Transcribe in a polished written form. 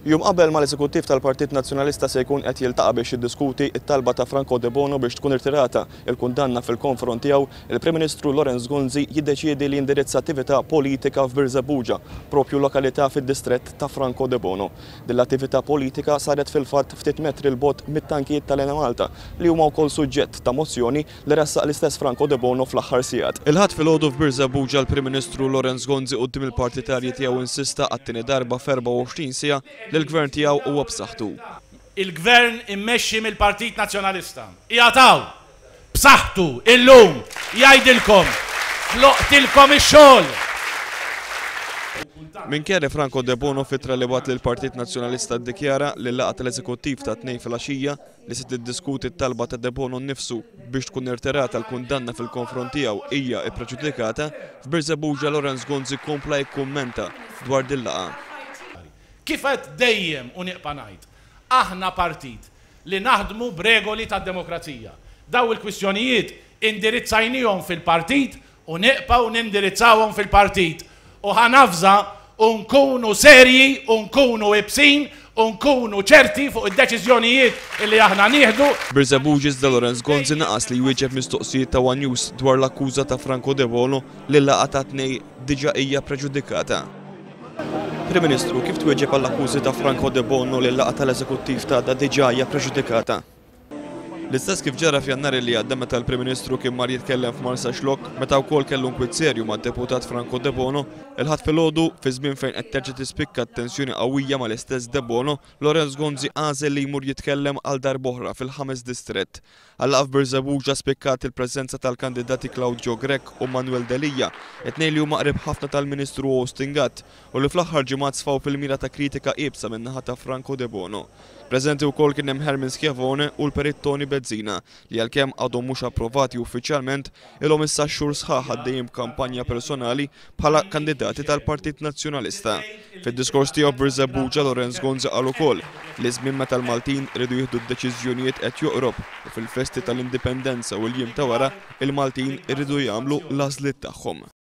Jum qabel ma l-Eżekuttiv tal-Partit Nazzjonalista se jkun qed jiltaqa' biex jiddiskuti t-talba ta' Franco Debono biex tkun irtirata l-kundanna fil-konfront tiegħu, il-Prim Ministru Lawrence Gonzi jiddeċiedi li jindirizza attività politika f'Birżebbuġa, propju lokalità fid-distrett ta' Franco Debono. Din l-attività politika saret fil-fatt ftit metri 'l bogħod mit-tankijiet tal-Enemalta li huma wkoll suġġett ta' mozzjoni li ressaq l-istess Franco Debono fl-aħħar sigħat. Il-Ħadd filgħodu f'Birżebbuġa l-Prim Ministru Lawrence Gonzi quddiem il-partitarji tiegħu insista għat-tieni darba f'24 siegħa li l-Gvern tiegħu huwa b'saħħtu. Il-Gvern immexxi mill-Partit Nazzjonalista qiegħed hawn b'saħħtu illum jgħidilkom ħloqtilkom ix-xogħol. Minkejja li Franco Debono f'ittra li bagħat lill-Partit Nazzjonalista ddikjara li l-laqgħa tal-Eżekuttiv tat-Tnejn filgħaxija li se tiddiskuti t-talba ta' Debono nnifsu biex tkun irtirata l-kundanna fil-konfront tiegħu hija ppreġudikata, f'Birżebbuġa Lawrence Gonzi kompla jikkummenta dwar din laqgħa. Kif għedt dejjem u nibqa' ngħid, aħna partit li naħdmu b'regoli tad-demokrazija. Dawn il-kwistjonijiet indirizzajnihom fil-partit U nibqgħu nindirizzawhom fil-partit u ħa navża u nkunu serji u nkunu ibsin u nkunu ċerti fuq id-deċiżjonijiet illi aħna nieħdu. Birżebbuġ iżda Lawrence Gonzi naqas li jwieġeb mistoqsijiet ta' one News dwar l-akkuża ta' Franco Debono li l-laqgħa tat-Tnejn diġà hija preġudikata. Prim Ministru, kif twieġeb għall-akkużi ta' Franco Debono li l-laqgħa tal-Eżekuttiv t'għada diġà hija preġudikata? L-istess kif ġara f'Jannar li għadda meta l-Prim Ministru kien mar jitkellem f'Marsaxlokk meta wkoll kellu nkwiet serju mad-Deputat Franco Debono, il-Ħadd filgħodu, fi żmien fejn qed terġa' tispikka t-tensjoni qawwija mal-istess Debono, Lawrence Gonzi għażel li jmur jitkellem għal darb'oħra fil-ħames distrett. Għal-laqgħa f'Birżebbuġa spikkat il-preżenza tal-kandidati Claudio Grech u Manuel Delia, it-tnejn li huma qrib ħafna tal-Ministru Austin Gatt u li fl-aħħar ġimgħat sfaw fil-mira ta' kritika iebsa min-naħa ta' Franco Debono. Preżenti wkoll kien hemm Herman Schiavone u l-Perit Tony Bezzina li għalkemm għadhom mhux approvati uffiċjalment, ilhom issa xhur sħaħ għaddejjin b'kampanja personali bħala kandidati tal-Partit Nazzjonalista. Fid-diskors tiegħu f'Birżebbuġa Lawrence Gonzi qal ukoll li ż-żmien meta l-Maltin iridu jieħdu d-deċiżjonijiet qed joqrob u fil-festi tal-Indipendenza u l-jiem ta' wara, il-Maltin iridu jagħmlu l-għażliet tagħhom.